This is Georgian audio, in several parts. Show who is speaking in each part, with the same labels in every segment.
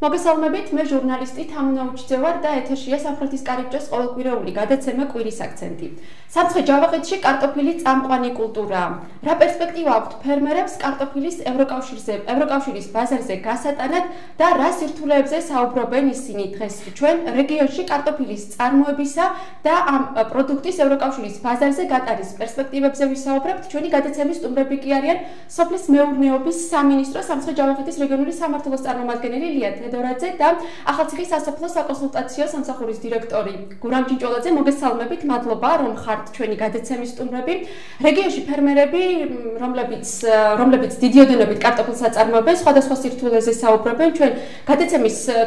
Speaker 1: მოგესალმებით, მე ჟურნალისტი თამუნა უჩძევარ და ეთერშია სამხრეთის კარიბჭეს ყოველკვირეული გადაცემა კვირის აქცენტი. Სამცხე ჯავახეთში კარტოფილი წამყვანი კულტურაა. Რა პერსპექტივა აქვთ ფერმერებს კარტოფილის ევროკავშირის ბაზარზე გასატანად და რა სირთულეებზე საუბრობენ ისინი დღეს ჩვენ რეგიონში კარტოფილის წარმოებისა და ამ პროდუქტის ევროკავშირის ბაზარზე გატარის პერსპექტივებზე ვისაუბრებთ. ჩვენი გადაცემის სტუმრები კი არიან სოფლის მეურნეობის სამინისტრო სამცხე ჯავახეთის რეგიონული სამმართველოს წარმომადგენელი ლია თედორაძე და ახალციხის სასოფლო საკონსულტაციო სამსახურის დირექტორი გურამ ჭინჭოლაძე. მოგესალმებით, მადლობა რომ ხართ ჩვენი გადაცემის სტუმრები. რეგიონში ფერმერები, რომლებიც დიდი ოდენობით კარტოფილს აწარმოებენ, სხვადასხვა სირთულეზე საუბრობენ. ჩვენ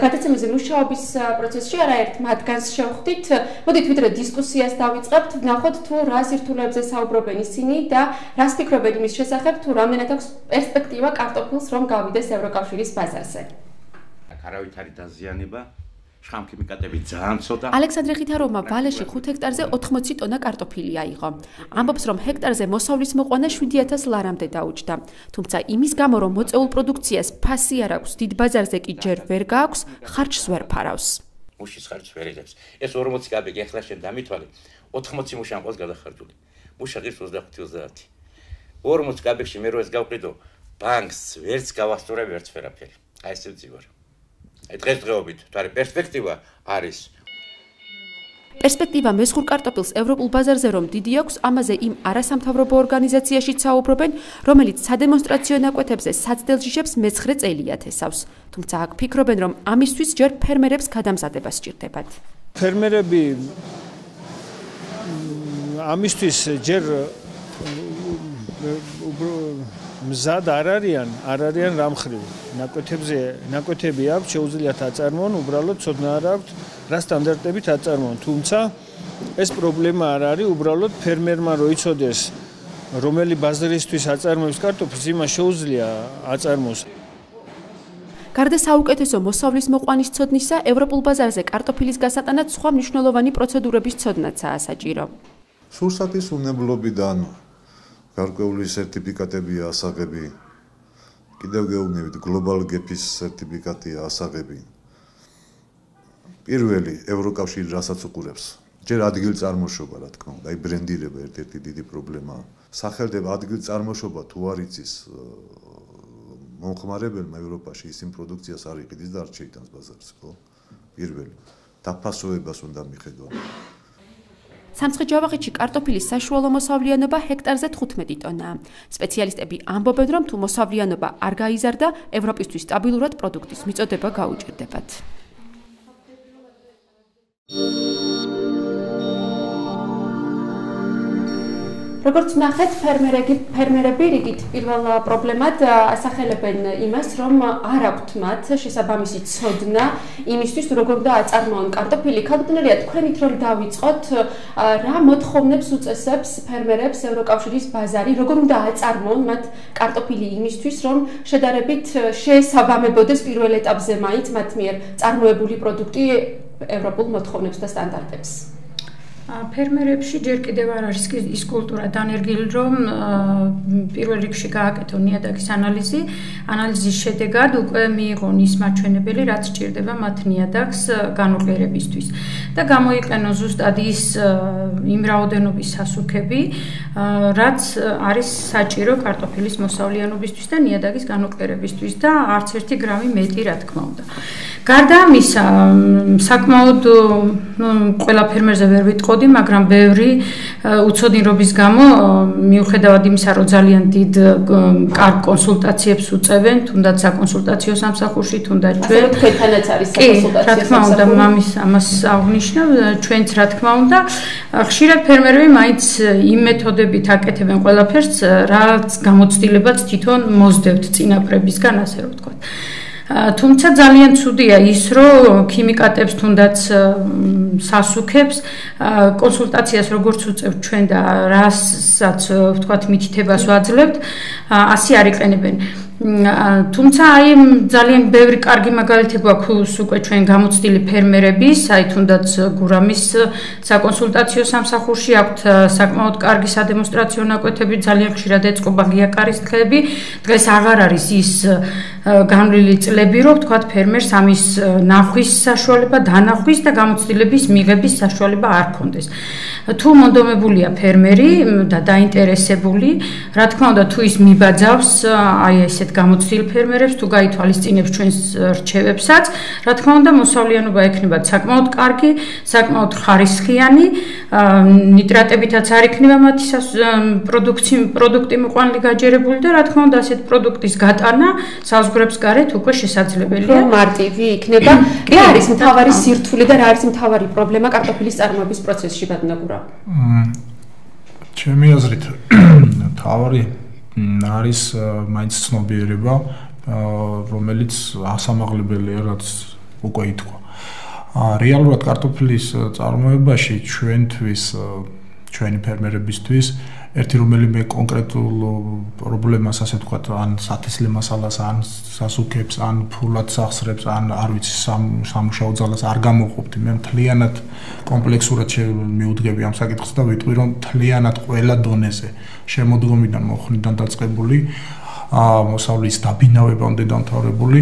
Speaker 1: გადაცემის მუშაობის პროცესში არაერთ მათგანს შევხვდით. მოდით ვიდრე დისკუსიას დავიწყებთ, ვნახოთ თუ რა სირთულეებზე საუბრობენ ისინი და რას ფიქრობენ იმის შესახებ, თუ რამდენად აქვს პერსპექტივა კარტოფილს რომ გავიდეს ევროკავშირის ბაზარზე.
Speaker 2: არავითარი დაზიანება, შხამქიმიკატები ძალიან ცოტა.
Speaker 1: ალექსანდრე ხითაროვმა ვალეში 5 ჰექტარზე 80 ტონა კარტოფილი აიღო. ამბობს, რომ ჰექტარზე მოსავლის მოყვანა 7000 ლარამდე დაუჯდა. თუმცა იმის გამო, რომ მოწეულ პროდუქციას ფასი არ აქვს, დიდ ბაზარზე კი ჯერ ვერ გააქვს, ხარჯს ვერ ფარავს.
Speaker 2: მუშის ხარჯს ვერ იღებს. ეს 40 კაბიკი ახლა შენ დამითვალე, 80 მუშა ამ ყავს გადახარჯული. მუშა ღირს 25-30. 40 კაბიკში მე რო ეს გავყიდო, ბანკს ვერც გავასწორე, ვერც ვერაფერი. აი ესე ვძივარ. დღესდღეობით თვარი პერსპექტივა არის.
Speaker 1: პერსპექტივა მესხურ კარტოფილს ევროპულ ბაზარზე რომ დიდი აქვს, ამაზე იმ არასამთავრობო ორგანიზაციაშიც საუბრობენ, რომელიც სადემონსტრაციო ნაკვეთებზე საცდელ ჯიშებს მე-9 წელია თესავს. თუმცა აქ ფიქრობენ, რომ ამისთვის ჯერ ფერმერებს გადამზადება სჭირდებათ.
Speaker 3: ფერმერები ამისთვის ჯერ მზად არ არიან რამხრივ. ნაკვეთები აქვს, შეუძლიათ აწარმოონ, უბრალოდ ცოდნა არ აქვთ, რა სტანდარტებით აწარმოონ. თუმცა ეს პრობლემა არ არის, უბრალოდ ფერმერმა რო იცოდეს, რომელი ბაზარისთვის აწარმოებს კარტოფილს, იმას შეუძლია აწარმოოს.
Speaker 1: გარდა საუკეთესო მოსავლის მოყვანის ცოდნისა, ევროპულ ბაზარზე კარტოფილის გასატანად სხვა მნიშვნელოვანი პროცედურების ცოდნაცაა საჭირო.
Speaker 4: სურსათის უნებლობიდან გარკვეული სერტიფიკატებია ასაღები. კიდევ გეუბნებით, Global Gap-ის სერტიფიკატია ასაღები. პირველი ევროკავშირი რასაც უყურებს, ჯერ ადგილწარმოშობა, რა თქმა უნდა, აი ბრენდირება ერთ-ერთი დიდი პრობლემაა. სახელდება ადგილწარმოშობა თუ არ იცის მომხმარებელმა ევროპაში ის იმ პროდუქციას არ იყიდის და არ შეიტანს ბაზარზე, ხო? პირველი. დაფასოებას უნდა მიხედვა.
Speaker 1: სამცხე ჯავახეთში კარტოფილის საშუალო მოსავლიანობა ჰექტარზე 15 ტონაა. სპეციალისტები ამბობენ, რომ თუ მოსავლიანობა არ გაიზარდა, ევროპისთვის სტაბილურად პროდუქტის მიწოდება გაუჭირდებათ. როგორც ნახეთ, ფერმერები რიგით პირველ პრობლემად ასახელებენ იმას, რომ არ აქვთ მათ შესაბამისი ცოდნა იმისთვის, როგორ უნდა აწარმოონ კარტოფილი. ქალბატონელია, თქვენით რომ დავიწყოთ, რა მოთხოვნებს უწესებს ფერმერებს ევროკავშირის ბაზარი, როგორ უნდა აწარმოონ მათ კარტოფილი იმისთვის, რომ შედარებით შეესაბამებოდეს პირველ ეტაპზე მაინც მათ მიერ წარმოებული პროდუქტი ევროპულ მოთხოვნებს და სტანდარტებს.
Speaker 5: ფერმერებში ჯერ კიდევ არ არის ის კულტურა დანერგილი, რომ პირველ რიგში გააკეთონ ნიადაგის ანალიზის შედეგად უკვე მიიღონ ის მაჩვენებელი, რაც სჭირდება მათ ნიადაგს განუყიერებისთვის და გამოიყენონ ზუსტად ის იმ რაოდენობის სასუქები, რაც არის საჭირო კარტოფილის მოსავლიანობისთვის და ნიადაგის განუყიერებისთვის და არც ერთი გრამი მეტი, რა თქმა უნდა. გარდა ამისა, საკმაოდ ყველა ფერმერზე ვერ ვიტყოდი, მაგრამ ბევრი უცოდინრობის გამო მიუხედავად იმისა, რომ ძალიან დიდ კარგ კონსულტაციებს უწევენ, თუნდაც საკონსულტაციო სამსახურში, თუნდაც ჩვენ.
Speaker 1: თქვენთანაც არის საკონსულტაციო
Speaker 5: რა თქმა უნდა, ამას აღვნიშნავ, ჩვენც რა თქმა უნდა, ხშირად ფერმერები მაინც იმ მეთოდებით აკეთებენ ყველაფერს, რაც გამოცდილებაც თვითონ მოსდევთ წინაპრებისგან, ასე რომ ვთქვათ. თუმცა ძალიან ცუდია ის, რომ ქიმიკატებს თუნდაც სასუქებს კონსულტაციას როგორც უწევთ ჩვენ და რასაც ვთქვათ მითითებას ვაძლევთ, ასე არ იყენებენ. თუმცა აი ძალიან ბევრი კარგი მაგალითი გვაქვს უკვე ჩვენ გამოცდილი ფერმერების, აი თუნდაც გურამის საკონსულტაციო სამსახურში აქვთ საკმაოდ კარგი სადემონსტრაციო ნაკვეთები, ძალიან ხშირად ეწყობა გიაკარის თხეები. დღეს აღარ არის ის განვლილი წლები, რომ თქვათ ფერმერს ამის ნახვის საშუალება, დანახვის და გამოცდილების მიღების საშუალება არ ქონდეს. თუ მონდომებულია ფერმერი და დაინტერესებული, რა თქმა უნდა, თუ ის მიბაძავს აი ესეთ გამოცდილ ფერმერებს, თუ გაითვალისწინებს ჩვენს რჩევებსაც, რა თქმა უნდა, მოსავლიანობა ექნებათ საკმაოდ კარგი, საკმაოდ ხარისხიანი, ნიტრატებითაც არ იქნება მათი პროდუქტი მიყვანილი გაჯერებული და რა თქმა უნდა, ასეთ პროდუქტის გატანა საზღვრებს გარეთ უკვე შესაძლებელია.
Speaker 1: მარტივი იქნება. რა არის მთავარი სირთულე და რა არის მთავარი პრობლემა კარტოფილის წარმოების პროცესში, ბატონო?
Speaker 6: ჩემი აზრით, მთავარი არის მაინც ცნობიერება, რომელიც ასამაღლებელია, რაც უკვე ითქვა. რეალურად კარტოფილის წარმოებაში ჩვენი ფერმერებისთვის ერთი რომელიმე კონკრეტულ პრობლემას, ასე ვთქვათ, ან სათესლე მასალას, ან სასუქებს, ან ფულად სახსრებს, ან არ ვიცი, სამუშაო ძალას არ გამოყოფთ. მე მთლიანად კომპლექსურად მივუდგები ამ საკითხს და ვიტყვი, რომ მთლიანად ყველა დონეზე, შემოდგომიდან, მოხდიდან დაწყებული, მოსავლის დაბინავებამდე დამთავრებული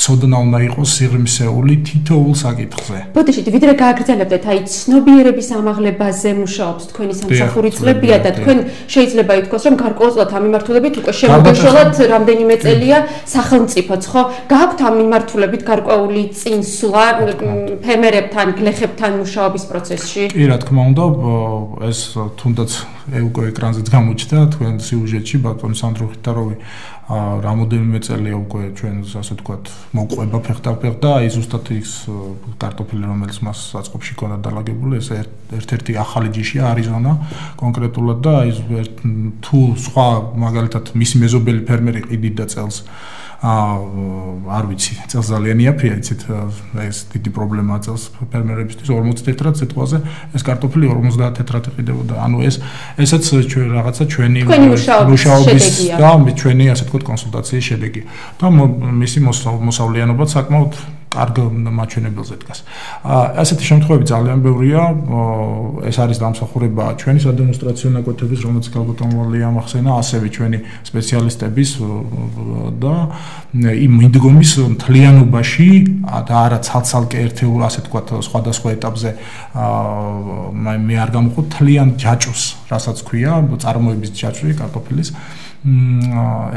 Speaker 6: ცოდნა უნდა იყოს სიღრმისეული თითოეულ საკითხზე.
Speaker 1: ბოდიშით, ვიდრე გააგრძელებდეთ, აი ცნობიერების ამაღლებაზე მუშაობს თქვენი სამსახური წლებია და თქვენ შეიძლება ითქვას, რომ გარკვეულწილად ამ მიმართულებით უკვე შემოგეშველათ რამდენიმე წელია სახელმწიფოც, ხო? გააქვთ ამ მიმართულებით გარკვეული წინსვლა ფერმერებთან, გლეხებთან მუშაობის პროცესში?
Speaker 6: კი, რა თქმა უნდა, ეს თუნდაც უკვე ეკრანზეც გამოჩნდა თქვენ სიუჟეტში ბატონი სანდრო ხიტაროვი რამოდენიმე წელია უკვე ჩვენ ასე ვთქვათ მოყვება ფეხდაფეხ და აი ზუსტად ის კარტოფილი რომელიც მას საწყობში ქონდა დალაგებული ეს ერთ-ერთი ახალი ჯიშია არიზონა კონკრეტულად და აი თუ სხვა მაგალითად მისი მეზობელი ფერმერი ყიდით და წელს არ ვიცი წელს ძალიან იაფია იცით ეს დიდი პრობლემაა წელს ფერმერებისთვის 40 თეთრად სიტყვაზე ეს კარტოფილი 50 თეთრად იყიდებოდა ანუ ესაც ჩვენ რაღაცა ჩვენი მუშაობის და ჩვენი ასე ვთქვათ კონსულტაციის შედეგი და მისი მოსავლიანობა საკმაოდ კარგ მაჩვენებელზე დგას. ასეთი შემთხვევები ძალიან ბევრია. ეს არის დამსახურება ჩვენი სადემონსტრაციო ნაკვეთების, რომელიც გალბატონვალია ამახსენა, ასევე ჩვენი სპეციალისტების და იმ მიდგომის მთლიანობაში და არა ცალ-ცალკე ერთეულ, ასე ვთქვათ, სხვადასხვა ეტაპზე მე არ გამოვხოთ მთლიან ჯაჭვს, რასაც ქვია, წარმოების ჯაჭვი კარტოფილის.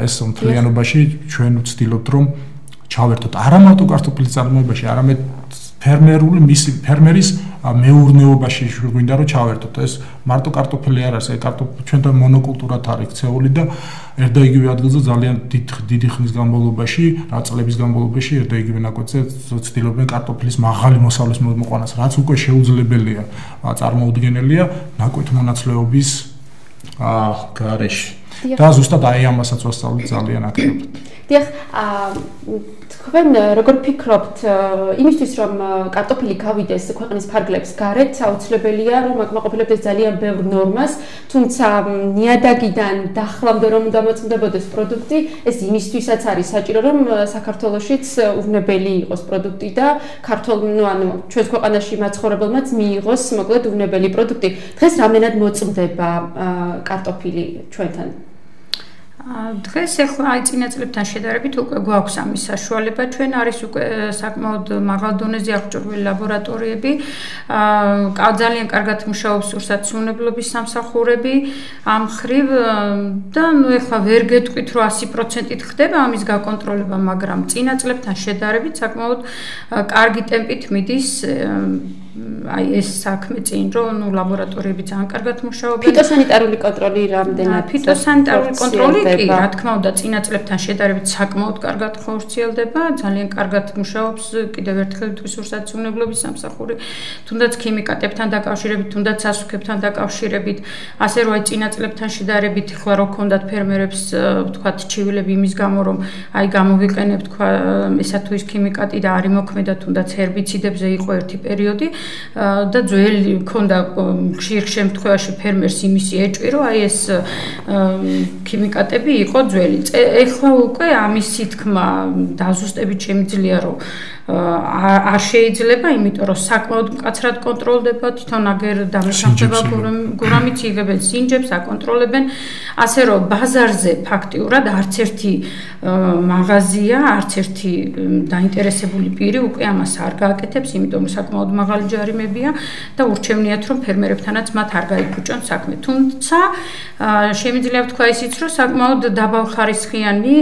Speaker 6: ეს მთლიანობაში ჩვენ ვცდილობთ, რომ ჩავერთოთ არა მარტო კარტოფილის წარმოებაში, არამედ ფერმერის მეურნეობაში გვინდა რომ ჩავერთოთ. ეს მარტო კარტოფილი არ არის, ჩვენთან მონოკულტურად არის ქცეული და ერთ და იგივე ადგილზე ძალიან დიდი ხნის განმავლობაში, წლების განმავლობაში ერთ და იგივე ნაკვეთზე ცდილობენ კარტოფილის მაღალი მოსავლის მოყვანას, რაც უკვე შეუძლებელია, წარმოუდგენელია ნაკვეთ-მონაცვლეობის გარეშე. და ზუსტად აი ამასაც ვასწავლით ძალიან აქტიურად.
Speaker 1: დიახ, თქვენ როგორ ფიქრობთ იმისთვის რომ კარტოფილი გავიდეს ქვეყნის ფარგლებს გარეთ, აუცილებელია რომ აკმაყოფილებდეს ძალიან ბევრ ნორმას, თუმცა ნიადაგიდან დახლამდე რომ დამოწმდებოდეს პროდუქტი, ეს იმისთვისაც არის საჭირო რომ საქართველოშიც უვნებელი იყოს პროდუქტი და ანუ ჩვენს ქვეყანაში მაცხოვრებელმაც მიიღოს მოკლედ უვნებელი პროდუქტი. დღეს რამდენად მოწმდება კარტოფილი ჩვენთან?
Speaker 5: დღეს ახლა აი წინა წლებთან შედარებით უკვე გვაქვს ამის საშუალება ჩვენ არის უკვე საკმაოდ მაღალ დონეზე აღჭურვილი ლაბორატორიები ძალიან კარგად მუშაობს ურსაცმუნებლობის სამსახურები ამ მხრივ და ნუ ახლა ვერ გეტყვით რომ 100%-ით ხდება ამის გაკონტროლება მაგრამ წინა წლებთან შედარებით საკმაოდ კარგი ტემპით მიდის აი ეს საქმე წინ რომ ნუ ლაბორატორიები ძალიან კარგად მუშაობენ.
Speaker 1: ფიტოსანიტარული კონტროლი რამდენად?
Speaker 5: ფიტოსანიტარული კონტროლი კი, რა თქმა უნდა, წინა წლებთან შედარებით საკმაოდ კარგად ხორციელდება, ძალიან კარგად მუშაობს კიდევ ერთხელ თვის ურსაცმუნებლობის სამსახური, თუნდაც ქიმიკატებთან დაკავშირებით, თუნდაც სასუქებთან დაკავშირებით, ასე რომ აი წინა წლებთან შედარებით ხლა რო ქონდათ ფერმერებს ვთქვათ ჩივილები იმის გამო რომ აი გამოვიყენებთ თქვა ესა თუ ის ქიმიკატი და არ იმოქმედა თუნდაც ჰერბიციდებზე იყო ერთი პერიოდი და ძველი მქონდა ხშირ შემთხვევაში ფერმერს იმისი ეჭვი რომ აი ეს ქიმიკატები იყო ძველი. ეხლა უკვე ამისი თქმა დაზუსტებით შემიძლია რომ არ შეიძლება, იმიტომ რომ საკმაოდ მკაცრად კონტროლდება, თვითონ აგერ დამესახება გურამიც იღებენ სინჯებს, აკონტროლებენ, ასე რომ ბაზარზე ფაქტიურად არც ერთი მაღაზია, არც ერთი დაინტერესებული პირი უკვე ამას არ გააკეთებს, იმიტომ რომ საკმაოდ მაღალი ჯარიმებია და ურჩევნიათ რომ ფერმერებთანაც მათ არ გაიფუჭონ საქმე. თუმცა შემიძლია ვთქვა ისიც, რომ საკმაოდ დაბალხარისხიანი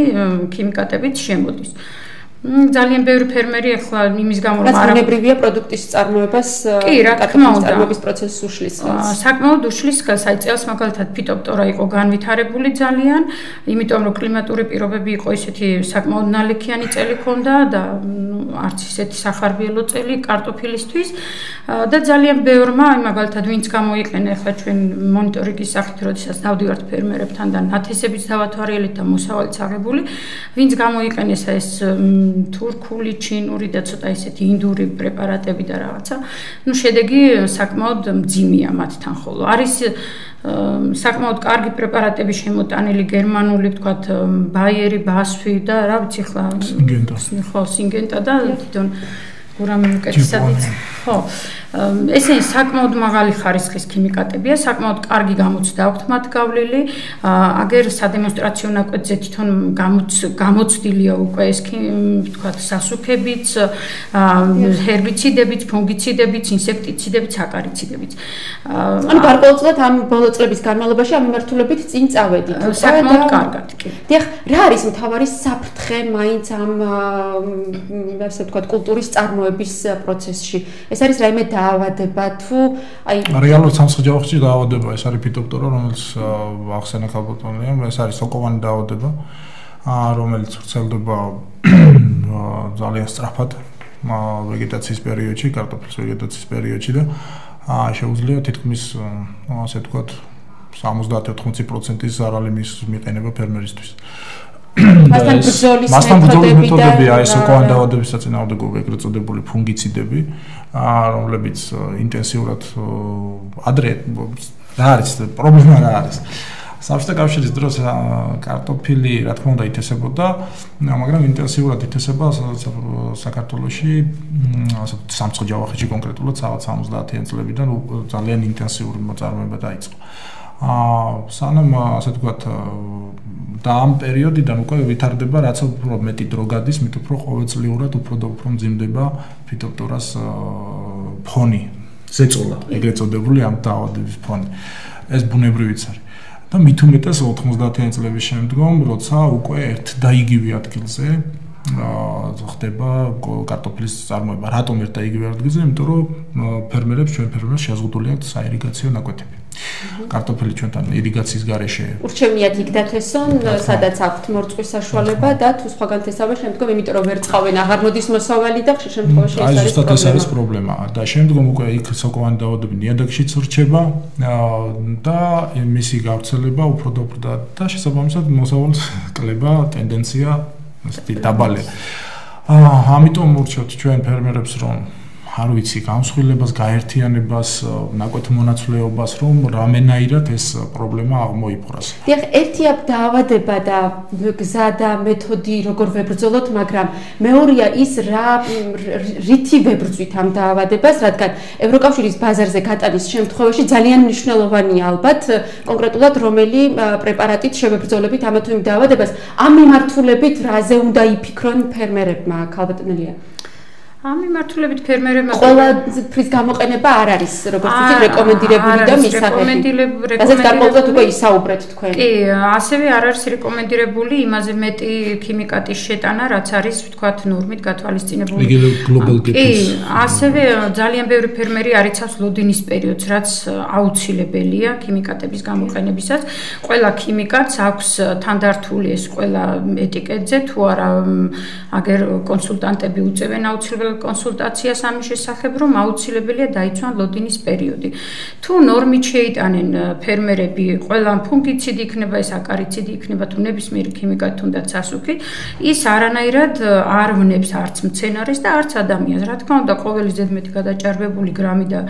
Speaker 5: ქიმიკატებით შემოდის. ძალიან ბევრი ფერმერი ახლა იმის გამო რომ არ
Speaker 1: ბუნებრივია პროდუქტის წარმოებას წარმოების პროცესს უშლის ხელს.
Speaker 5: საკმაოდ უშლის ხელს, აი წელს მაგალითად ფიტოპტორა იყო განვითარებული ძალიან, იმიტომ რომ კლიმატური პირობები იყო ისეთი საკმაოდ ნალექიანი წელი ჰქონდა და არც ისეთი სახარბიელო წელი კარტოფილისთვის და ძალიან ბევრმა, აი მაგალითად ვინც გამოიყენა ახლა ჩვენ მონიტორინგის სახით, როდესაც დავდივართ ფერმერებთან და ნათესებით დავათვალიერეთ და მოსავალიც აღებული, ვინც გამოიყენეს ეს თურქული, ჩინური და ცოტა ისეთი ინდური პრეპარატები და რაღაცა. შედეგი საკმაოდ მძიმეა მათთან, ხოლო არის საკმაოდ კარგი პრეპარატები შემოტანილი გერმანული, ვთქვათ, ბაიერი, ბასვი და რა ვიცი ხლა სინგენტა და თვითონ გურამი უკეთესად იცი. ხო. ესენი საკმაოდ მაღალი ხარისხის ქიმიკატებია, საკმაოდ კარგი გამოცდა აქვთ მათ გავლილი. აგერ სადემონსტრაციო ნაკვეთზე თვითონ გამოცდილია უკვე ეს ვთქვათ სასუქებიც, ჰერბიციდებიც, ფუნგიციდებიც, ინსექტიციდებიც, აკარიციდებიც.
Speaker 1: ანუ გარკვეულწილად ამ ბოლო წლების განმავლობაში ამ მიმართულებით წინ წავედით.
Speaker 5: საკმაოდ კარგად კი.
Speaker 1: დიახ, რა არის მთავარი საფრთხე მაინც ამ ასე ვთქვათ კულტურის წარმოების პროცესში? ეს არის რაიმე დაავადება თუ აი
Speaker 6: რეალურად სამსხიჯაოხში დაავადება, ეს არის ფიტოპტორა, რომელიც ახსენა ქალბატონია, ეს არის სოკოვანი დაავადება, რომელიც ვრცელდება ძალიან სწრაფად ვეგეტაციის პერიოდში, კარტოფილის ვეგეტაციის პერიოდში და შეუძლია თითქმის ასე ვთქვათ 70-80% ზარალი მიყენება ფერმერისთვის.
Speaker 1: მასთან
Speaker 6: ბრძოლის მეთოდებია ეს სოკოვანი დაავადების საწინააღმდეგო ეგრეთ წოდებული ფუნგიციდები, რომლებიც ინტენსიურად ადრე რა არის პრობლემა რა არის. საბჭოთა კავშირის დროს კარტოფილი რა თქმა უნდა ითესებოდა, მაგრამ ინტენსიურად ითესება საქართველოში, ასე სამცხე-ჯავახეთში კონკრეტულად 70-იან წლებიდან ძალიან ინტენსიური მოწარმოება დაიწყო. სანამ ასე ვთქვათ და ამ პერიოდიდან უკვე ვითარდება, რაც უფრო მეტი დრო გადის, მით უფრო ყოველწლიურად უფრო და უფრო მძიმდება ფიტოპტორას ფონი, ზეწოლა, ეგრეთ წოდებული ამ დაავადების ფონი. ეს ბუნებრივიც არის. და მით უმეტეს 90-იან წლების შემდგომ, როცა უკვე ერთ და იგივე ადგილზე ხდება კარტოფილის წარმოება. რატომ ერთ და იგივე ადგილზე? იმიტომ რომ ჩვენ ფერმერებს შეზღუდული აქვთ საირიგაციო ნაკვეთები. კარტოფილი ჩვენთან ირიგაციის გარეშე
Speaker 1: ურჩევნიათ იქ დათესონ, სადაც აქვთ მორწყვის საშუალება და თუ სხვაგან თესავენ შემდგომ, იმიტომ რომ ვერ წყავენ, აღარ მოდის მოსავალი და ხშირ შემთხვევაში
Speaker 6: ეს არის პრობლემა. და შემდგომ უკვე იქ სოკოვანი დაავადები ნიადაგშიც რჩება და მისი გავრცელება უფრო და უფრო და შესაბამისად მოსავალს კლება ტენდენცია ასეთი დაბალია. ამიტომ ურჩევთ ჩვენ ფერმერებს, რომ არ ვიცი, გამსხვილებას, გაერთიანებას, ნაკვეთ მონაცვლეობას, რომ რამენაირად ეს პრობლემა აღმოიფხვრას.
Speaker 1: დიახ, ერთია დაავადება და გზა და მეთოდი როგორ ვებრძოლოთ, მაგრამ მეორეა ის რითი ვებრძვით ამ დაავადებას, რადგან ევროკავშირის ბაზარზე გატანის შემთხვევაში ძალიან მნიშვნელოვანია ალბათ კონკრეტულად რომელი პრეპარატით შევებრძოლებით ამა თუ იმ დაავადებას. ამ მიმართულებით რაზე უნდა იფიქრონ ფერმერებმა, ქალბატონელია?
Speaker 5: ამ მიმართულებით ფერმერებმა
Speaker 1: ყველაფრის გამოყენება არ არის, როგორც ვთქვით, რეკომენდირებული და მისაღები. რასაც გარკვეულწილად უკვე ისაუბრეთ თქვენ.
Speaker 5: კი, ასევე არ არის რეკომენდირებული იმაზე მეტი ქიმიკატის შეტანა, რაც არის, ვთქვათ, ნორმით გათვალისწინებული. კი, ასევე ძალიან ბევრი ფერმერი არ იცავს ლოდინის პერიოდს, რაც აუცილებელია ქიმიკატების გამოყენებისას. ყველა ქიმიკატს აქვს თანდართული ეს ყველა ეტიკეტზე, თუ არა აგერ კონსულტანტები უწევენ აუცილებელ კონსულტაციას ამის შესახებ, რომ აუცილებელია დაიცვან ლოდინის პერიოდი. თუ ნორმით შეიტანენ ფერმერები, ყველა ფუნგიციდი იქნება, ეს აკარიციდი იქნება, თუ ნებისმიერი ქიმიკატი თუნდაც სასუქი, ის არანაირად არ ვნებს არც მცენარეს და არც ადამიანს. რა თქმა უნდა, ყოველი ზედმეტი გადაჭარბებული გრამი და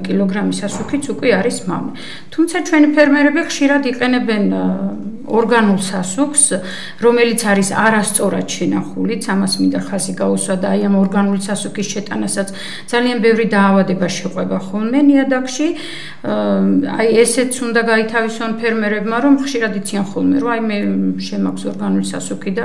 Speaker 5: კილოგრამი სასუქიც უკვე არის მავნე. თუმცა ჩვენი ფერმერები ხშირად იყენებენ ორგანულ სასუქს, რომელიც არის არასწორად შენახულიც, ამას მინდა ხაზი გაუსვა და აი ამ ორგანული სასუქის შეტანასაც ძალიან ბევრი დაავადება შეყვება ხოლმე ნიადაგში. აი ესეც უნდა გაითავისონ ფერმერებმა, რომ ხშირად იციან ხოლმე, რომ აი მე შემაქვს ორგანული სასუქი და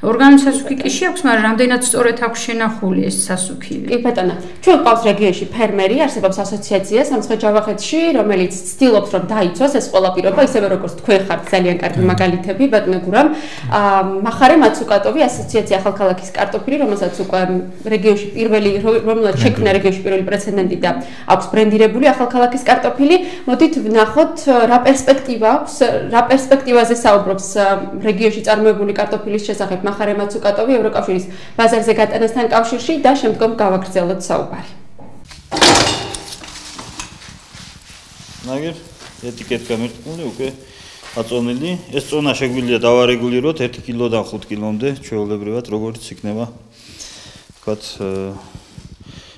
Speaker 5: ორგანული სასუქი კი შეაქვს, მაგრამ რამდენად სწორად აქვს შენახული ეს სასუქი.
Speaker 1: კი ბატონო, ჩვენ ყავს რეგიონში ფერმერი, არსებობს ასოციაცია სამცხე-ჯავახეთში, რომელიც ცდილობს რომ დაიცვას ეს ყველა პირობა, ისევე როგორც თქვენ ხართ ძალიან კარგი მაგალითები, ბატონო გურამ. მახარე მაცუკატოვი ასოციაცია ახალქალაქის კარტოფილი, რომელსაც უკვე რეგიონში პირველი, რომელსაც შექმნა რეგიონში პირველი პრეცედენტი და აქვს ბრენდირებული ახალქალაქის კარტოფილი. მოდით ვნახოთ რა პერსპექტივა აქვს, რა პერსპექტივაზე საუბრობს რეგიონში წარმოებული კარტოფილის შესახებ მახარე მაცუკატოვი ევროკავშირის ბაზარზე გატანასთან კავშირში და შემდგომ გავაგრძელოთ საუბარი.
Speaker 7: ნაგერ ეტიკეტ გამერტყმული უკვე აწონილი. ეს წონა შეგვიძლია დავარეგულიროთ 1 კილოდან 5 კილომდე ჩვეულებრივად როგორც იქნება თქვათ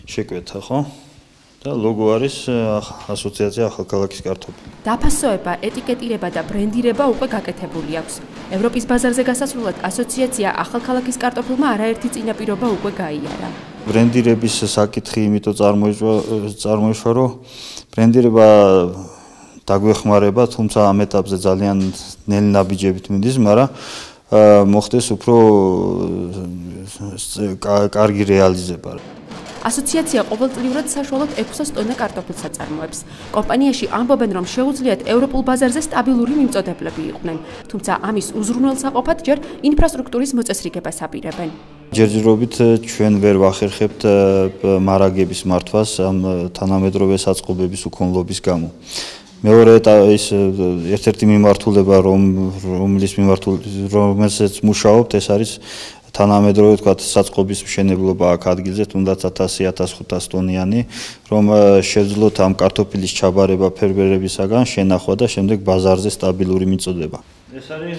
Speaker 7: შეკვეთა, ხო? და ლოგო არის ასოციაცია ახალქალაქის კარტოფილი.
Speaker 8: დაფასოება, ეტიკეტირება და ბრენდირება უკვე გაკეთებული აქვს. ევროპის ბაზარზე გასასვლელად ასოციაცია ახალქალაქის კარტოფილმა არაერთი წინაპირობა უკვე გაიარა.
Speaker 7: ბრენდირების საკითხი იმიტომ წარმოიშვა, რომ ბრენდირება დაგვეხმარება, თუმცა ამ ეტაპზე ძალიან ნელი ნაბიჯებით მიდის, მაგრამ მოხდეს უფრო კარგი რეალიზება.
Speaker 8: ასოციაცია ყოველწლიურად საშუალოდ 600 ტონა კარტოფილს აწარმოებს. კომპანიაში ამბობენ, რომ შეუძლიათ ევროპულ ბაზარზე სტაბილური მიმწოდებლები იყვნენ, თუმცა ამის უზრუნველსაყოფად ჯერ ინფრასტრუქტურის მოწესრიგებას აპირებენ.
Speaker 7: ჯერჯერობით ჩვენ ვერ ვახერხებთ მარაგების მართვას ამ თანამედროვე საწყობების უქონლობის გამო. მეორე ის ერთ-ერთი მიმართულება, რომელსაც მუშაობთ, ეს არის თანამედროვე თქვათ საწყობის მშენებლობა აქ ადგილზე, თუნდაც 1000-1500 ტონიანი, რომ შეძლოთ ამ კარტოფილის ჩაბარება ფერმერებისაგან, შენახვა და შემდეგ ბაზარზე სტაბილური მიწოდება. ეს არის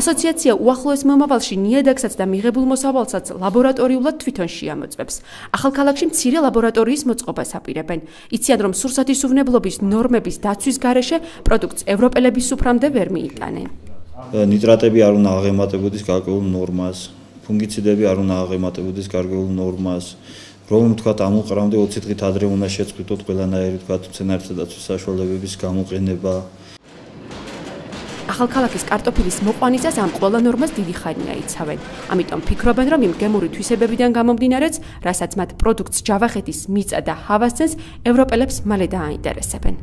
Speaker 8: ასოციაცია უახლოეს მომავალში ნიადაგსაც და მიღებულ მოსავალსაც ლაბორატორიულად თვითონ შეამოწმებს. ახალქალაქში მცირე ლაბორატორიის მოწყობას აპირებენ. იციან, რომ სურსათისუვნებლობის ნორმების დაცვის გარეშე პროდუქტს ევროპელების სუფრამდე ვერ მიიტანენ.
Speaker 7: ნიტრატები არ უნდა აღემატებოდეს გარკვეულ ნორმას, ფუნგიციდები არ უნდა აღემატებოდეს გარკვეულ ნორმას. რომ თქვათ ამ უყრამდე 20 დღით ადრე უნდა შეწყვიტოთ ყველანაირი თქვათ მცენარეთა დაცვის საშუალებების გამოყენება.
Speaker 8: ახალქალაქის კარტოფილის მოყვანისას ამ ყველა ნორმას დიდი ხანია იცავენ. ამიტომ ფიქრობენ, რომ იმ გემური თვისებებიდან გამომდინარეც, რასაც მათ პროდუქტს ჯავახეთის მიწა და ჰავა სცემს, ევროპელებს მალე დააინტერესებენ.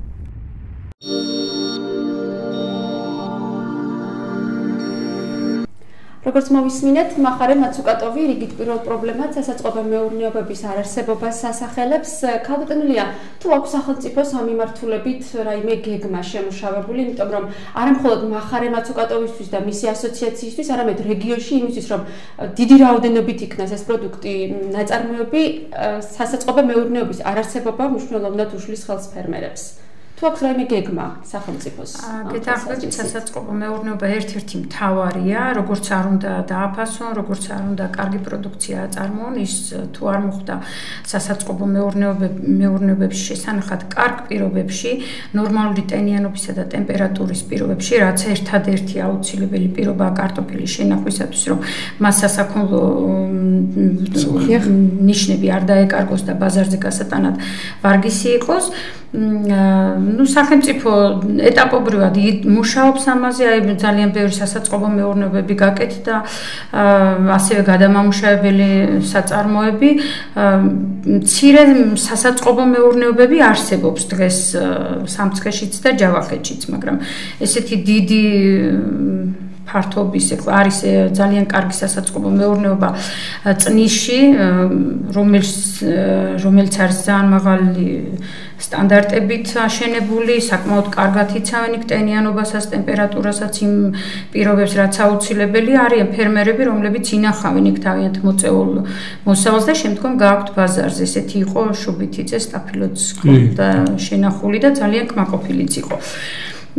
Speaker 1: როგორც მოვისმინეთ, მახარე მაცუკატოვი რიგით პირველ პრობლემად სასაწყობე მეურნეობების არარსებობას ასახელებს. ქალბატონია, თუ აქვს სახელმწიფოს ამ მიმართულებით რაიმე გეგმა შემუშავებული, იმიტომ რომ არა მხოლოდ მახარე მაცუკატოვისთვის და მისი ასოციაციისთვის, არამედ რეგიონში იმისთვის, რომ დიდი რაოდენობით იქნას ეს პროდუქტი ნაწარმოები, სასაწყობე მეურნეობის არარსებობა მნიშვნელოვნად უშლის ხელს ფერმერებს. თუ აქვს რაიმე გეგმა სახელმწიფოს?
Speaker 5: გეთახმებით, სასაწყობო მეურნეობა ერთ-ერთი მთავარია, როგორც არ უნდა დააფასონ, როგორც არ უნდა კარგი პროდუქცია აწარმოონ, ის თუ არ მოხდა სასაწყობო მეურნეობებში შესანახად კარგ პირობებში, ნორმალური ტენიანობისა და ტემპერატურის პირობებში, რაც ერთადერთი აუცილებელი პირობაა კარტოფილის შენახვისათვის, რომ მას სასაქონლო ნიშნები არ დაეკარგოს და ბაზარზე გასატანად ვარგისი იყოს. სახელმწიფო ეტაპობრივად მუშაობს ამაზე, აი ძალიან ბევრი სასაწყობო მეურნეობები გაკეთდა, ასევე გადამამუშავებელი საწარმოები, მცირე სასაწყობო მეურნეობები არსებობს დღეს სამცხეშიც და ჯავახეთშიც, მაგრამ ესეთი დიდი ფართობის არის ძალიან კარგი სასაწყობო მეურნეობა წნისში, რომელიც არის ძალიან მაღალი სტანდარტებით აშენებული, საკმაოდ კარგად იცავენ იქ ტენიანობასაც, ტემპერატურასაც, იმ პირობებს, რაც აუცილებელი არიან ფერმერები, რომლებიც ინახავენ იქ თავიანთ მოწეულ მოსავალს და შემდგომ გააქვთ ბაზარზე. ესეთი იყო შუბითიძე, სტაფილოც და შენახული და ძალიან კმაყოფილიც იყო.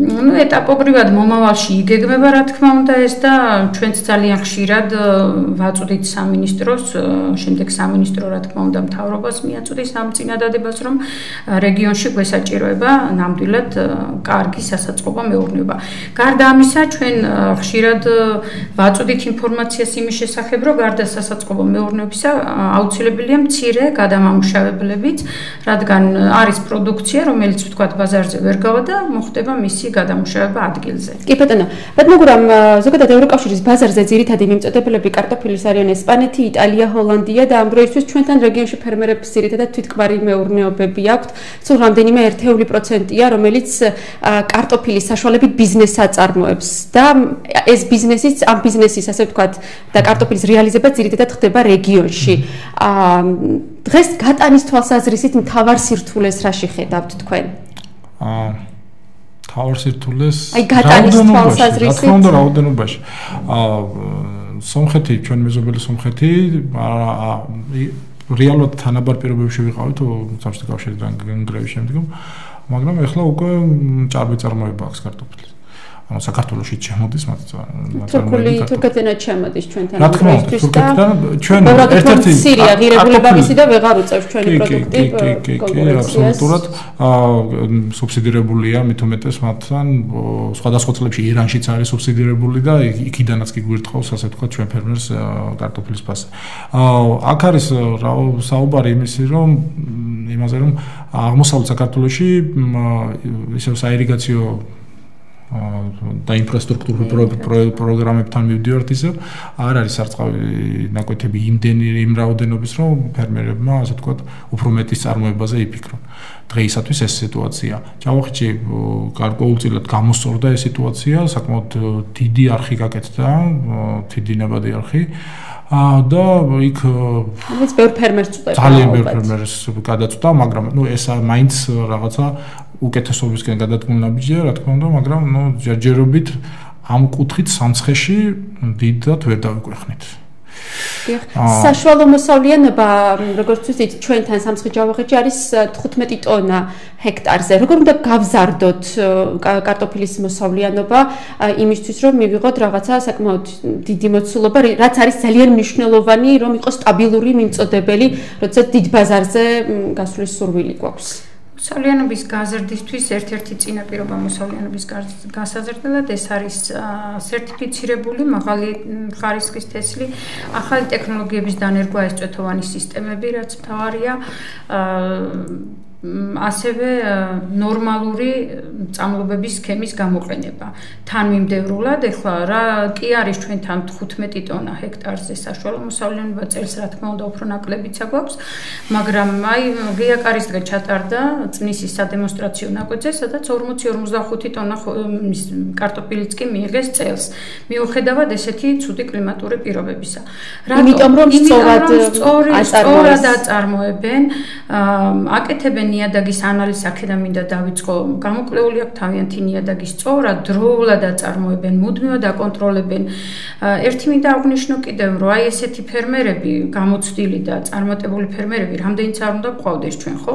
Speaker 5: ну ეტაპობრივად მომავალში იგეგმება რა თქმა უნდა ეს და ჩვენც ძალიან ხშირად ვაწვდით სამინისტროს, შემდეგ სამინისტრო რა თქმა უნდა მთავრობას მიაწვდის ამ წინადადებას, რომ რეგიონში გვესაჭიროება ნამდვილად კარგი სასაწყობო მეურნეობა. გარდა ამისა, ჩვენ ხშირად ვაწვდით ინფორმაციას იმის შესახებ, რომ გარდა სასაწყობო მეურნეობისა აუცილებელია მცირე გადამამუშავებლებიც, რადგან არის პროდუქცია, რომელიც ვთქვათ ბაზარზე ვერ გავა და მოხდება მისი გადამუშავება ადგილზე.
Speaker 8: კი ბატონო, მაგრამ ზოგადად ევროკავშირის ბაზარზე ძირითადი მიმწოდებელები კარტოფილის არიან ესპანეთი, იტალია, ჰოლანდია და ამ დროისთვის ჩვენთან რეგიონში ფერმერებს ძირითადად თვითკბარი მეურნეობები აქვთ. სულ რამდენიმე 1%-ია, რომელიც კარტოფილის საშუალებით ბიზნესს აწარმოებს და ეს ბიზნესიც, ამ ბიზნესის ასე ვთქვათ და კარტოფილის რეალიზება ძირითადად ხდება რეგიონში. დღეს გატანის თვალსაზრისით მთავარ სირთულეს რაში ხედავთ თქვენ?
Speaker 6: თავარ სირთულეს
Speaker 8: გატანის თვალსაზრისით.
Speaker 6: რა თქმა უნდა, რაოდენობაში. სომხეთი, ჩვენ მეზობელი სომხეთი, რეალურად თანაბარ პირობებში ვიყავით საბჭოთა კავშირიდან გრევის შემდგომ, მაგრამ ეხლა უკვე ჭარბი წარმოება აქვს კარტოფილის. ანუ საქართველოში შემოდის მათ
Speaker 8: თურქული თურქეთიდან შემოდის ჩვენთან
Speaker 6: რა თქმა უნდა თურქეთიდან ჩვენ ერთ-ერთი
Speaker 8: სირია ღირებულება მისი და ვეღარ უწევს ჩვენი პროდუქტი
Speaker 6: აბსოლუტურად სუბსიდირებულია მით უმეტეს მათთან სხვადასხვა წლებში ირანშიც არის სუბსიდირებული და იქიდანაც კი გვირთხავს ასე ვთქვათ ჩვენ ფერმერს კარტოფილის ფასი აქ არის საუბარი იმაზე რომ აღმოსავლეთ საქართველოში ისევ საირიგაციო და ინფრასტრუქტურული პროგრამებთან მივდივართ ისევ არ არის სარწყავი ნაკვეთები იმ რაოდენობის რომ ფერმერებმა ასე ვთქვათ უფრო მეტის წარმოებაზე იფიქრონ დღეისათვის ეს სიტუაცია ჭავახეთში გარკვეულწილად გამოსწორდა ეს სიტუაცია საკმაოდ დიდი არხი გაკეთდა დიდი ნებადი არხი და იქ
Speaker 8: ეს ბევრ ფერმერს წვდება
Speaker 6: ძალიან ბევრ ფერმერს გადაწვდა მაგრამ ნუ ეს მაინც რაღაცა უკეთესობისკენ გადადგმული ნაბიჯია რა თქმა უნდა მაგრამ ნუ ჯერჯერობით ამ კუთხით სამცხეში დიდად ვერ დავიკვეხნით
Speaker 8: საშუალო მოსავლიანობა როგორც ვთქვით ჩვენთან სამცხე-ჯავახეთში არის 15 ტონა ჰექტარზე როგორ უნდა გავზარდოთ კარტოფილის მოსავლიანობა იმისთვის რომ მივიღოთ რაღაცა საკმაოდ დიდი მოცულობა რაც არის ძალიან მნიშვნელოვანი რომ იყოს სტაბილური მიმწოდებელი როდესაც დიდ ბაზარზე გასვლის სურვილი გვაქვს
Speaker 5: მოსავლიანობის გაზრდისთვის ერთ-ერთი წინაპირობა მოსავლიანობის გასაზრდელად ეს არის სერტიფიცირებული მაღალი ხარისხის თესლი, ახალი ტექნოლოგიების დანერგვა, ეს წვეთოვანი სისტემები, რაც მთავარია, ასევე ნორმალური წამლობების სქემის გამოყენება. თანმიმდევრულად, ეხლა რა კი არის ჩვენთან 15 ტონა ჰექტარზე საშუალო მოსავლიანობა წელს, რა თქმა უნდა, უფრო ნაკლებიცა გვაქვს, მაგრამ აი გიაკარის დღე ჩატარდა წნისის სადემონსტრაციო ნაკვეთზე, სადაც 40-45 ტონა კარტოფილიც კი მიიღეს წელს. მიუხედავად ესეთი ცუდი კლიმატური პირობებისა.
Speaker 8: იმიტომ რომ სწორად
Speaker 5: აწარმოებენ, აკეთებენ ნიადაგის ანალიზს აქედან მინდა დავიწყო გამოკვლეული აქვს თავიანთი ნიადაგის წორა დროულად აწარმოებენ მუდმივად აკონტროლებენ ერთი მინდა აღვნიშნო კიდევ რომ აი ესეთი ფერმერები გამოცდილი და წარმატებული ფერმერები რამდენიც არ უნდა გვყავდეს ჩვენ ხო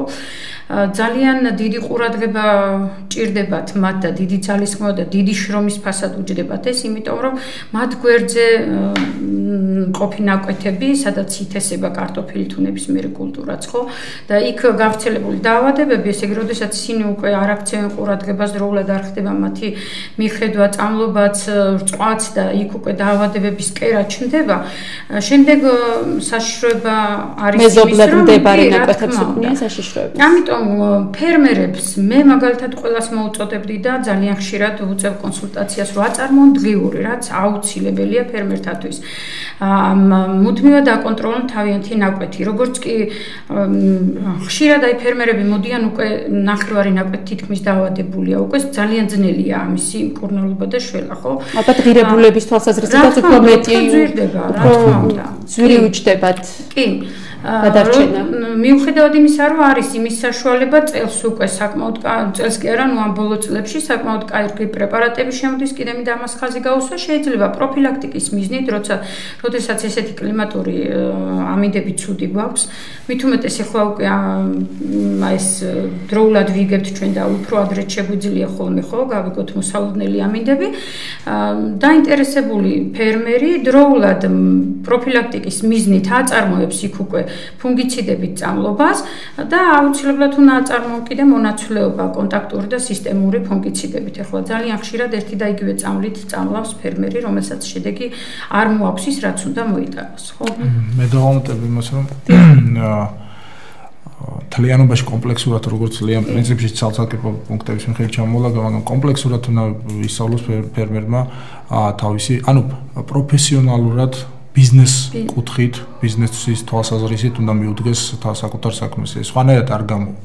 Speaker 5: ძალიან დიდი ყურადღება ჭირდებათ მათ და დიდი ძალისხმევა და დიდი შრომის ფასად უჯდებათ ეს იმიტომ რომ მათ გვერდზე ყოფი ნაკვეთები სადაც ითესება კარტოფილი თუ ნებისმიერი კულტურაც ხო და იქ გავრცელებული დაავადებები, ესე იგი, როდესაც ისინი უკვე არ აქცევენ ყურადღებას, დროულად არ ხდება მათი მიხედვა, წამლობაც, რწყვაც და იქ უკვე დაავადებების კერა ჩნდება. შემდეგ საშიშროება არის
Speaker 8: მეზობლად მდებარე ნაკვეთებს უქმნიან საშიშროებას.
Speaker 5: ამიტომ ფერმერებს მე მაგალითად ყველას მოუწოდებდი და ძალიან ხშირად ვუწევ კონსულტაციას, რომ აწარმოონ დღიური, რაც აუცილებელია ფერმერთათვის. მუდმივად აკონტროლონ თავიანთი ნაკვეთი, როგორც კი ხშირად აი ფერმერები მოდიან უკვე ნახევარი ნაკვეთი თითქმის დაავადებულია, უკვე ძალიან ძნელია ამისი მკურნალობა და შველა, ხო?
Speaker 8: ალბათ ღირებულების თვალსაზრისითაც უფრო მეტი
Speaker 5: ზვირდება, რა თქმა უნდა.
Speaker 8: ზვირი უჯდებათ.
Speaker 5: კი.
Speaker 1: გადარჩენა.
Speaker 5: მიუხედავად იმისა, რომ არის იმის საშუალება წელს უკვე საკმაოდ წელს კი არა, ამ ბოლო წლებში საკმაოდ კარგი პრეპარატები შემოდის, კიდე მინდა ამას ხაზი გაუსვა, შეიძლება პროფილაქტიკის მიზნით, როდესაც ესეთი კლიმატური ამინდები ცუდი გვაქვს, მით უმეტეს ახლა უკვე ეს დროულად ვიგებთ ჩვენ და უფრო ადრე შეგვიძლია ხოლმე გავიგოთ მოსალოდნელი ამინდები. დაინტერესებული ფერმერი დროულად პროფილაქტიკის მიზნით აწარმოებს იქ უკვე ფუნგიციდებით წამლობას და აუცილებლად უნდა აწარმოო კიდე მონაცვლეობა კონტაქტური და სისტემური ფუნგიციდებით. ახლა ძალიან ხშირად ერთი და იგივე წამლით წამლავს ფერმერი, რომელსაც შედეგი არ მოაქვს ის, რაც უნდა მოიტანოს, ხო?
Speaker 6: მე დავამატებ იმას, რომ თლიანობაში კომპლექსურად როგორც ძალიან პრინციპში ცალ-ცალკე პუნქტების მიხედვით ჩამოვალაგა, მაგრამ კომპლექსურად უნდა ისწავლოს ფერმერმა თავისი, პროფესიონალურად ბიზნეს კუთხით, ბიზნესის თვალსაზრისით უნდა მიუდგეს საკუთარ საქმეს. სხვანაირად არ გამოვა.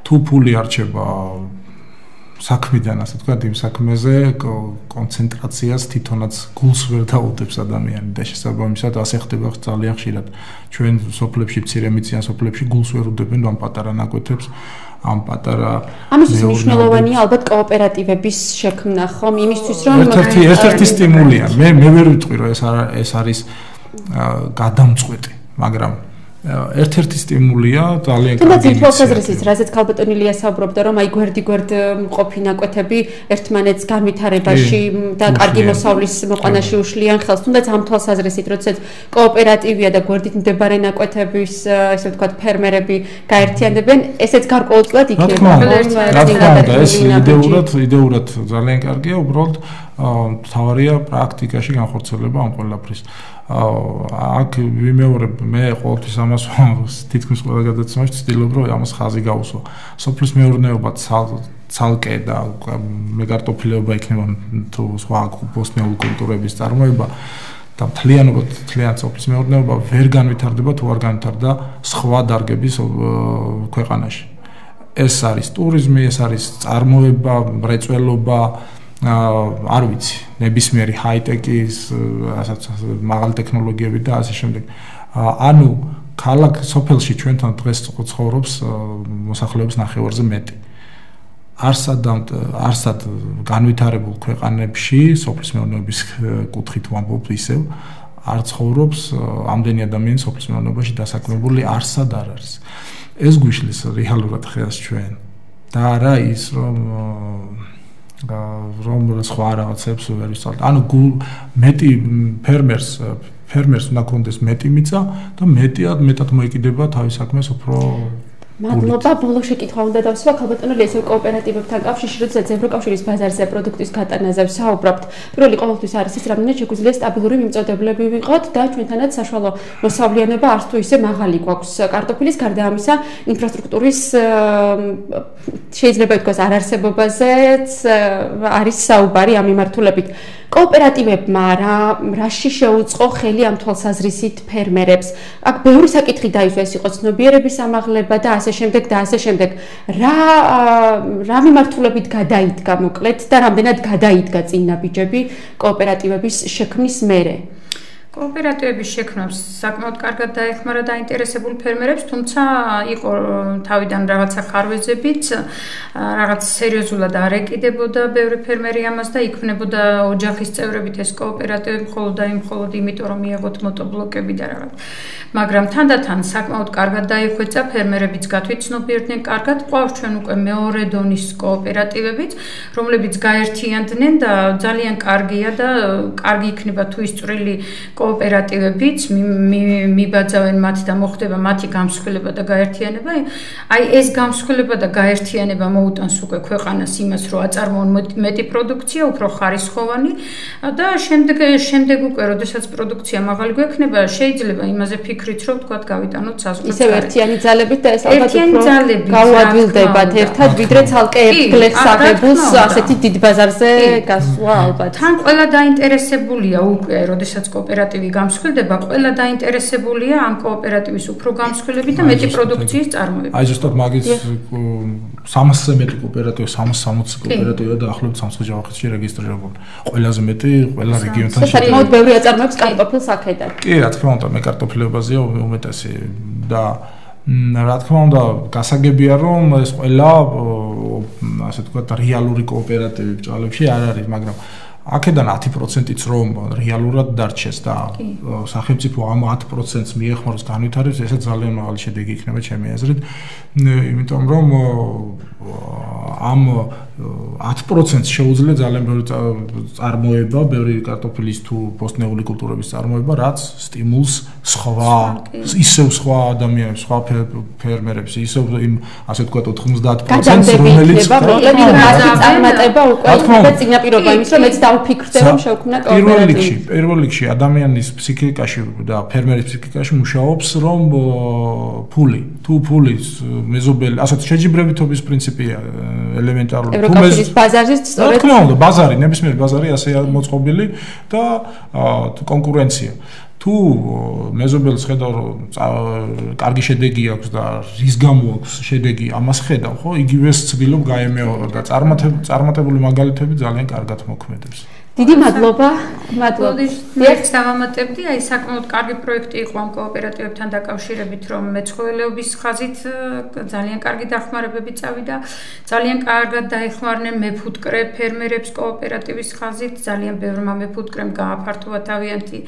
Speaker 6: თუ ფული არჩება საქმიდან, ასე ვთქვათ, იმ საქმეზე კონცენტრაციას თვითონაც გულს ვერ დაუდებს ადამიანი და შესაბამისად ასე ხდება ძალიან ხშირად. ჩვენ სოფლებში, მცირე-მიწიან სოფლებში გულს ვერ უდებენ ამ პატარა ნაკვეთებს, ამ პატარა
Speaker 1: ამისთვის მნიშვნელოვანია ალბათ კოოპერატივების შექმნა, ხომ? იმისთვის რომ
Speaker 6: ერთ-ერთი სტიმულია. მე ვერ ვიტყვი რომ ეს არის გადამწყვეტი, მაგრამ ერთ-ერთი სტიმულია ძალიან კარგი.
Speaker 1: თუმცა თვალსაზრისით, რასაც ქალბატონი ლია საუბრობდა, რომ გვერდ-გვერდ მყოფი ნაკვეთები ერთმანეთს განვითარებაში და კარგი მოსავლის მოყვანაში უშლიან ხელს. თუმცა ამ თვალსაზრისით, როდესაც კოოპერატივია და გვერდით მდებარე ნაკვეთების, ესე ვთქვათ, ფერმერები გაერთიანდებიან, ესეც გარკვეულწილად იქნება.
Speaker 6: ეს იდეურად ძალიან კარგია, უბრალოდ თავარია პრაქტიკაში განხორციელება ამ ყველაფრის. აქ ვიმეორებ მე ყოველთვის ამას თითქმის ყველა გადაცემაში ვცდილობ რომ ამას ხაზი გავუსვა. სოფლის მეურნეობა ცალკე და მე კარტოფილეობა იქნება თუ სხვა ბოსნიურ კულტურების წარმოება და მთლიანად სოფლის მეურნეობა ვერ განვითარდება თუ არ განვითარდა სხვა დარგების ქვეყანაში. ეს არის ტურიზმი, ეს არის წარმოება, მრეწველობა, არ ვიცი, ნებისმიერი ჰაი-ტეკის, ასაც მაღალი ტექნოლოგიები და ასე შემდეგ. ანუ ქალაქ სოფელში ჩვენთან დღეს ცხოვრობს მოსახლეობის ნახევარზე მეტი. არსად განვითარებულ ქვეყანებში, სოფლის მეურნეობის კუთხით ვამბობ ისევ, არ ცხოვრობს ამდენი ადამიანი სოფლის მეურნეობაში დასაქმებული არსად არ არის. ეს გვიშლის რეალურად ხელს ჩვენ და არა ის რომ სხვა რაღაცებს ვერ ვისწავლეთ. ანუ მეტი ფერმერს უნდა კონდეს მეტი მიწა და მეტად მოიკიდება თავის საქმეს უფრო
Speaker 1: მადლობა. ბოლო შეკითხვა უნდა დავსვა ქალბატონო ლესო კოოპერატივებთან კავშირში, როდესაც ევროკავშირის ბაზარზე პროდუქტის გატანაზე ვსაუბრობთ. პირველი ყოველთვის არის ის, რამდენად შეგვიძლია სტაბილური მიმწოდებლები ვიყოთ და ჩვენთანაც საშუალო მოსავლიანობა არც თუ ისე მაღალი გვაქვს. კარტოფილის გარდა ამისა, ინფრასტრუქტურის შეიძლება ითქვას არარსებობაზეც არის საუბარი ამ მიმართულებით. კოოპერატივებმა რაში შეუწყო ხელი ამ თვალსაზრისით ფერმერებს? აქ ბევრი საკითხი დაისვა, ეს იყო ცნობიერების ამაღლება და ასე შემდეგ. რა მიმართულებით გადაიდგა მოკლედ და რამდენად გადაიდგა წინ ნაბიჯები კოოპერატივების შექმნის მერე?
Speaker 5: კოოპერატივების შექმნას საკმაოდ კარგად დაეხმარა დაინტერესებულ ფერმერებს, თუმცა იყო თავიდან რაღაცა ხარვეზებიც, რაღაც სერიოზულად არ ეკიდებოდა ბევრი ფერმერი ამას და იქმნებოდა ოჯახის წევრებით ეს კოოპერატივები მხოლოდ იმიტომ რომ მიიღოთ მოтобლოკები და რაღაც. მაგრამ თანდათან საკმაოდ კარგად დაიხვეწა, ფერმერებიც გათვითცნობიერდნენ კარგად, ყავს ჩვენ უკვე მეორე დონის კოოპერატივებიც, რომლებიც გაერთიანდნენ და ძალიან კარგია და კარგი იქნება თუ ის წვრილი კოოპერატივებიც მიბაძავენ მათ და მოხდება მათი გამსხვილება და გაერთიანება. აი ეს გამსხვილება და გაერთიანება მოუტანს უკვე ქვეყანას იმას, რომ აწარმოონ მეტი პროდუქცია, უფრო ხარისხოვანი და შემდეგ უკვე, როდესაც პროდუქცია მაღალი გვექნება, შეიძლება იმაზე ფიქრით, რომ თქვა გავიტანოთ საზღვარგარეთ.
Speaker 1: ისევ ერთიანი ძალებით და ეს ალბათ უფრო გავადვილდებათ ერთად, ვიდრე ცალკე ერთ გლეხს აღებულს ასეთი დიდ ბაზარზე გასვლა ალბათ.
Speaker 5: თან ყველა დაინტერესებულია უკვე, როდესაც კოოპერატივი გამსხვილდება, ყველა დაინტერესებულია ამ კოოპერატივის უფრო გამსხვილებით და მეტი პროდუქციის წარმოებით.
Speaker 6: აი ზუსტად მაგის 300-ზე მეტი კოოპერატივი, 360 კოოპერატივია დაახლოებით სამცხე-ჯავახეთში რეგისტრირებული. ყველაზე მეტი ყველა რეგიონთან
Speaker 1: შედარებით ბევრი აწარმოებს კარტოფილს აქედან.
Speaker 6: კი, რა თქმა უნდა, მე კარტოფილებაზეა უმეტესი და რა თქმა უნდა, გასაგებია რომ ეს ყველა ასე ვთქვათ რეალური კოოპერატივი ბრძოლებში არ არის, მაგრამ აქედან 10%-იც რომ რეალურად დარჩეს და სახელმწიფო ამ 10%-ს მიეხმაროს განვითარებას, ესე ძალიან მაღალი შედეგი იქნება ჩემი აზრით, იმიტომ რომ ამ 10%-ს შეუძლია ძალიან ბევრი წარმოება, ბევრი კარტოფილის თუ პოსტნეული კულტურების წარმოება, რაც სტიმულს ისევ სხვა ადამიანებს, სხვა ფერმერებს, ისევ იმ ასე ვთქვათ 90%-ს რომელიც
Speaker 1: წარმატება უკვე წინაპირობა იმის რომ მეც დავფიქრდე რომ შევქმნა კოოპერატივი.
Speaker 6: პირველ რიგში ადამიანის ფსიქიკაში და ფერმერის ფსიქიკაში მუშაობს რომ ფული მეზობელი, ასეთ შეჯიბრებითობის პრინციპია ელემენტარული.
Speaker 1: ევროკავშირის ბაზარზე სწორედ.
Speaker 6: რა თქმა უნდა, ბაზარი, ნებისმიერი ბაზარი ასეა მოწყობილი და კონკურენცია. თუ მეზობელს ხედავ რომ კარგი შედეგი აქვს და რის გამო აქვს შედეგი, ამას ხედავ, ხო? იგივეს ცდილობ გაემეორო და წარმატებული მაგალითები ძალიან კარგად მოქმედებს.
Speaker 1: დიდი მადლობა.
Speaker 5: ერთ დავამატებდი, აი საკმაოდ კარგი პროექტი იყო ამ კოოპერატივებთან დაკავშირებით, რომ მეცხოველეობის ხაზით ძალიან კარგი დახმარებები წავიდა, ძალიან კარგად დაეხმარნენ მეფუტკრე ფერმერებს კოოპერატივის ხაზით, ძალიან ბევრმა მეფუტკრემ გააფართოვა თავიანთი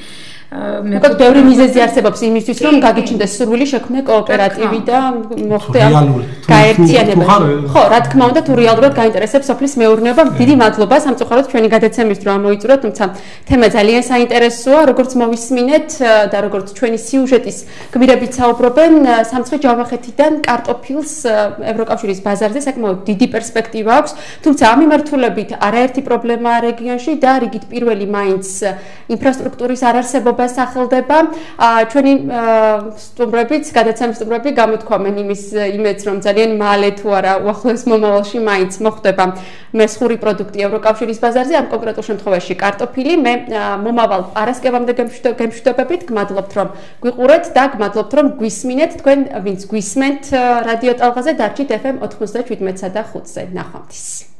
Speaker 1: მოკლედ ბევრი მიზეზი არსებობს იმისთვის, რომ გაგიჩნდეს სურვილი შექმნას კოოპერატივი და მოხდეს გაერთიანება. ხო, რა თქმა უნდა, თუ რეალურად გაინტერესებს სოფლის მეურნეობა, დიდი მადლობა სამწუხაროდ ჩვენი გადაცემის დრო მოიწურა, თუმცა თემა ძალიან საინტერესოა, როგორც მოვისმინეთ და როგორც ჩვენი სიუჟეტის გმირებით საუბრობენ, სამცხე-ჯავახეთიდან კარტოფილს ევროკავშირის ბაზარზე საკმაოდ დიდი პერსპექტივა აქვს, თუმცა ამ მიმართულებით არაერთი პრობლემაა რეგიონში და რიგით პირველი მაინც ინფრასტრუქტურის არარსებობა სახელდება. ჩვენი სტუმრებიც, გადაცემის სტუმრები გამოთქვამენ იმედს, რომ ძალიან მალე თუ არა უახლოეს მომავალში მაინც მოხდება მესხური პროდუქტი ევროკავშირის ბაზარზე, ამ კონკრეტულ შემთხვევაში კარტოფილი. მე მომავალ პარასკევამდე გემშვიდობებით, გმადლობთ რომ გვიყურეთ და გმადლობთ რომ გვისმინეთ, თქვენ ვინც გვისმენთ რადიო ტალღაზე, დარჩით FM 97.5-ზე. ნახვამდის.